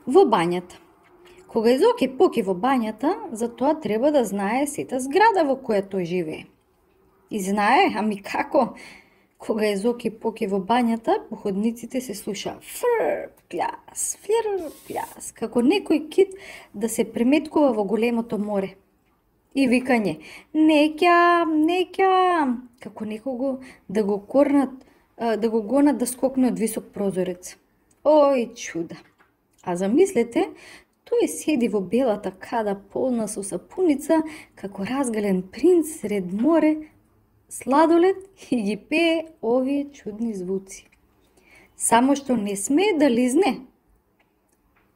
Во бањата. Кога Езоки поки во бањата, за тоа треба да знае сета зграда во која тој живее. И знае, ами како? Кога Езоки поки во бањата, по ходниците се слуша фр, пљас, флир, пљас, како некој кит да се преметкува во големото море. И викање, неќам, како некого да го корнат, да го гонат да скокне од висок прозорец. Ој, чуда! А замислете, тој седи во белата када полна со сапуница, како разгален принц сред море, сладолед и ги пее овие чудни звуци. Само што не смее да лизне.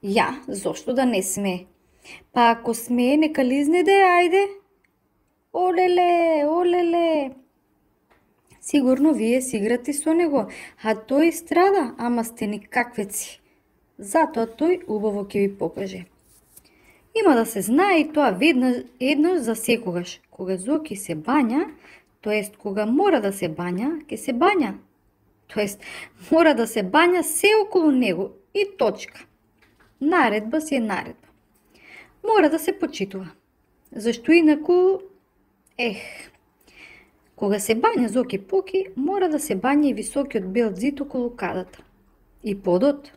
Ја, зошто да не смее? Па ако смее, нека лизне де, ајде. Олеле, олеле. Сигурно вие си играте со него, а тој страда, ама сте никаквеци. Затоа тој убаво ќе ви покаже. Има да се знае и тоа еднаш за секогаш. Кога Зоки се бања, тоест кога мора да се бања, ќе се бања. Тоест мора да се бања се околу него и точка. Наредба си е наредба. Мора да се почитува. Зашто инаку, кога се бања Зоки Поки, мора да се бања и високиот бел зид околу кадата. И подот.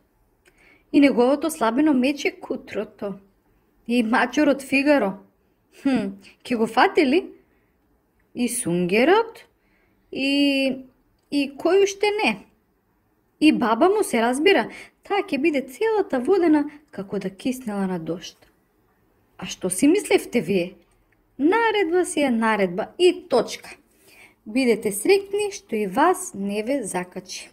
И неговото слабено мече Кутрото. И мачорот Фигаро. Ке го фате ли? И Сунгерот. И кој уште не? И баба му се разбира, таа ќе биде целата водена како да киснела на дожд. А што си мислевте вие? Наредба си е наредба и точка. Бидете среќни што и вас не ве закачи.